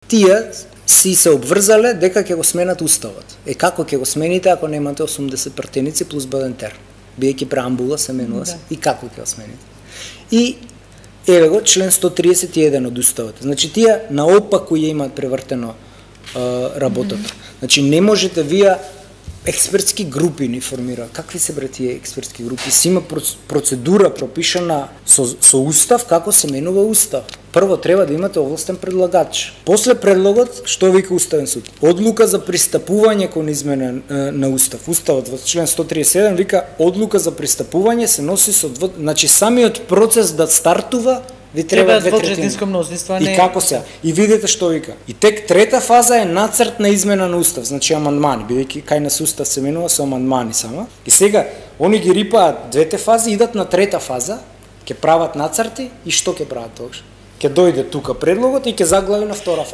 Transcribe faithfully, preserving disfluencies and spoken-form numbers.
тие си се обврзале дека ќе го сменат уставот. Е како ќе го смените ако немате осумдесет пратеници плюс Бадентер? Биејќи преамбула се менува да. И како ќе го смените? И еве го член сто триесет и еден од уставот. Значи тие наопаку ја имаат превртено uh, работата. Mm -hmm. Значи не можете вие експертски групи ни формираат. Какви се бре тие експертски групи? Си има процедура пропишана со, со устав како се менува устав. Прво треба да имате овластен предлагач. После предлогот, што вика Уставен суд? Одлука за пристапување кон измена на устав. Уставот во член сто триесет и еден вика одлука за пристапување се носи со дво... значи самиот процес да стартува ви треба две третини. И како се? И видите што вика. И тек трета фаза е нацрт на измена на устав, значи амандмани, бидејќи кај нас устав се менува со амандмани само. И сега они ги рипаат двете фази, идат на трета фаза, ќе прават нацрти и што ќе прават тогаш? Ќе дојде тука предлогот и ќе заглави на втора фаза.